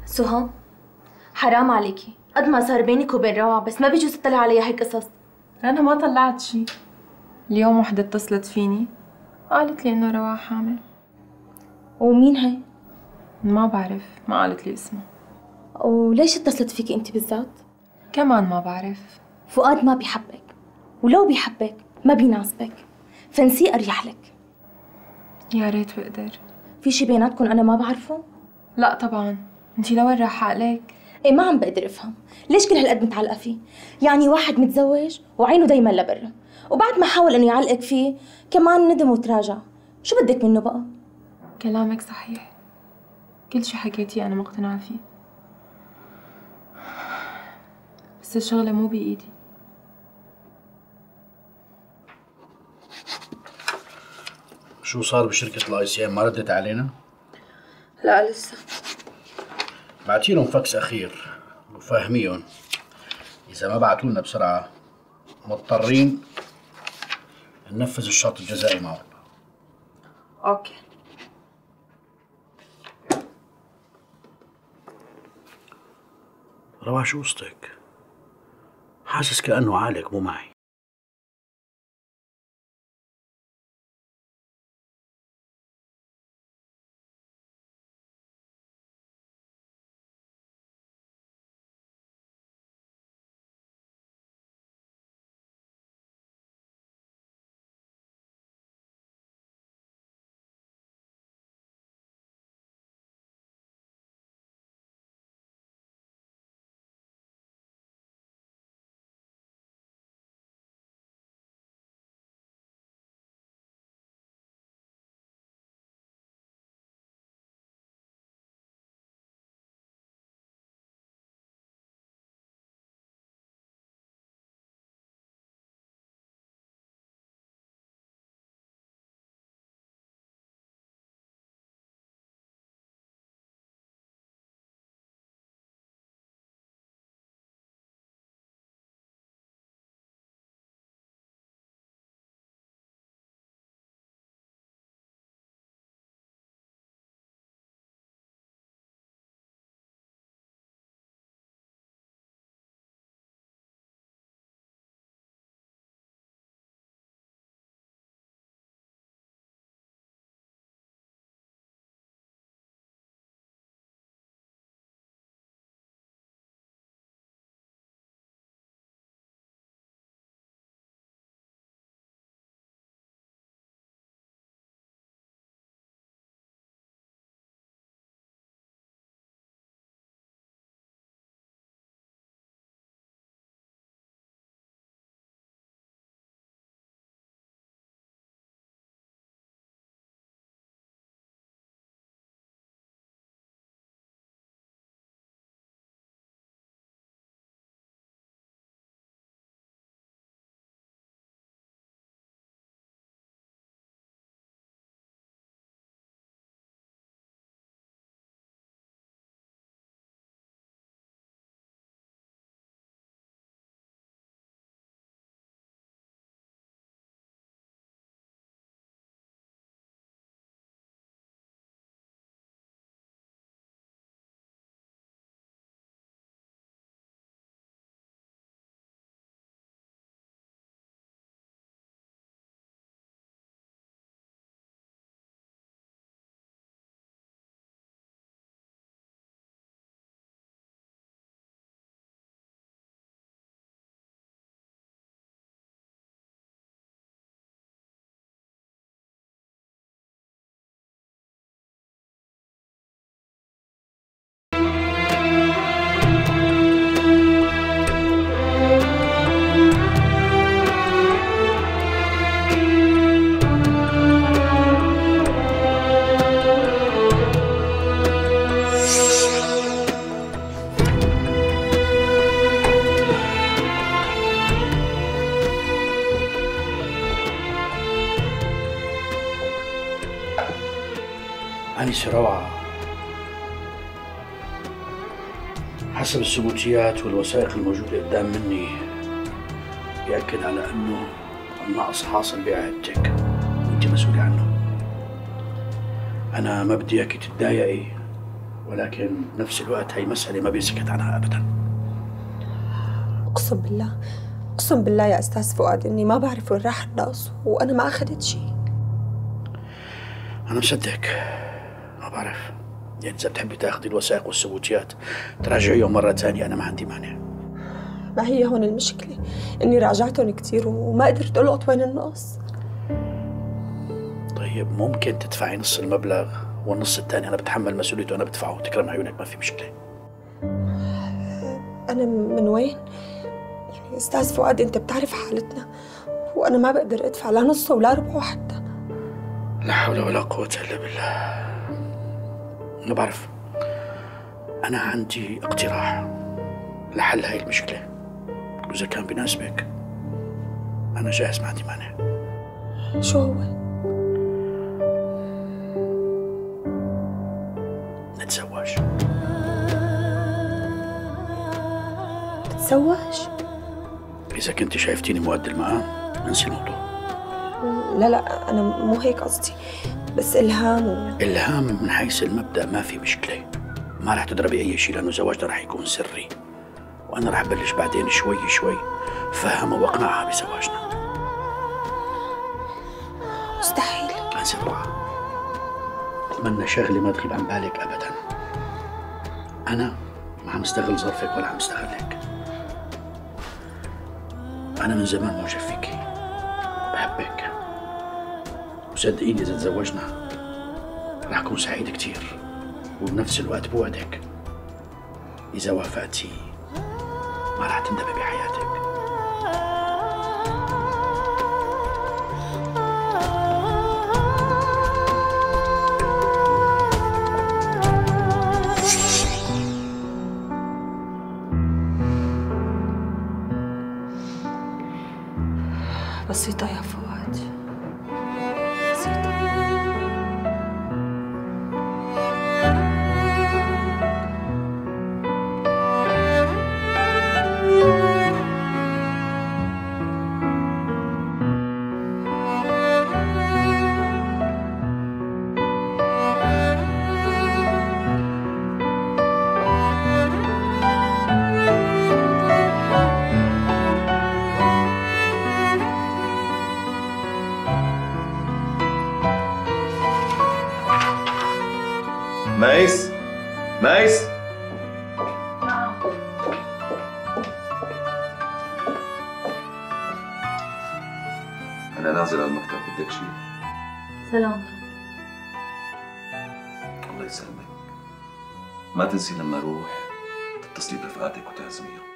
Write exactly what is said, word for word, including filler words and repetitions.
سهى حرام عليكي، قد ما صار بينك وبين روعة بس ما بيجوز تطلع عليها هيك قصص. أنا ما طلعت شي. اليوم وحدة اتصلت فيني قالت لي إنه روعة حامل. ومين هي؟ ما بعرف، ما قالت لي اسمها. وليش اتصلت فيكي انت بالذات؟ كمان ما بعرف. فؤاد ما بيحبك، ولو بيحبك ما بيناسبك، فنسيه اريح لك. يا ريت بقدر. في شي بيناتكم انا ما بعرفه؟ لا طبعا، انتي لوين رايحة عليك؟ ايه ما عم بقدر افهم، ليش كل هالقد متعلقة فيه؟ يعني واحد متزوج وعينه دايما لبرا، وبعد ما حاول انه يعلقك فيه كمان ندم وتراجع، شو بدك منه بقى؟ كلامك صحيح، كل شي حكيتيه أنا مقتنعة فيه، بس الشغلة مو بإيدي. شو صار بشركة الاي سي ام؟ ما ردت علينا؟ لا لسه. بعتي لهم فاكس اخير وفاهميهم اذا ما بعتوا لنا بسرعة مضطرين ننفذ الشرط الجزائي معهم. اوكي. روعة شو قصتك؟ حاسس كأنه عالق مو معي. أنسة روعة، حسب الثبوتيات والوثائق الموجودة قدام مني بيأكد على أنه النقص حاصل بعيادتك وأنت مسؤولة عنه. أنا ما بدي إياكي تتضايقي ولكن بنفس الوقت هي مسألة ما بيسكت عنها أبدا. أقسم بالله أقسم بالله يا أستاذ فؤاد إني ما بعرف وين راح الناس وأنا ما أخذت شيء. أنا مصدق، ما بعرف، يعني إذا بتحبي تاخذي الوثائق والثبوتيات تراجعيهم مرة ثانية أنا ما عندي مانع. ما هي هون المشكلة، إني راجعتهم كثير وما قدرت ألقط وين النقص. طيب ممكن تدفعي نص المبلغ والنص الثاني أنا بتحمل مسؤوليته وأنا بدفعه، تكرم عيونك ما في مشكلة. أنا من وين؟ يعني أستاذ فؤاد أنت بتعرف حالتنا وأنا ما بقدر أدفع لا نصه ولا ربعه حتى. لا حول ولا قوة إلا بالله. ما بعرف، أنا عندي اقتراح لحل هاي المشكلة، وإذا كان بيناسبك أنا جاهز، ما عندي مانع. شو هو؟ نتزوج. تتزوج؟ إذا كنت شايفتيني مؤدي المقام انسي الموضوع. لا لا أنا مو هيك قصدي، بس إلهام و... إلهام من حيث المبدأ ما في مشكلة، ما رح تضربي أي شيء لأنه زواجنا رح يكون سري، وأنا رح بلش بعدين شوي شوي فهمها وأقنعها بزواجنا. مستحيل. أنسي روعة، أتمنى شغلة ما تغيب عن بالك أبدا. أنا ما عم استغل ظرفك ولا عم استغلك. أنا من زمان معجب فيكي، بحبك، وصدقيني إذا تزوجنا رح أكون سعيد كتير، وبنفس الوقت بوعدك إذا وافقتي ما رح تندمي بحياتك. بسيطة يا فؤاد، بسيطة. ميس ميس أنا نازل على المكتب، بدك شيء؟ سلامتك. الله يسلمك. ما تنسي لما أروح تتصلي برفقاتك وتعزميهم.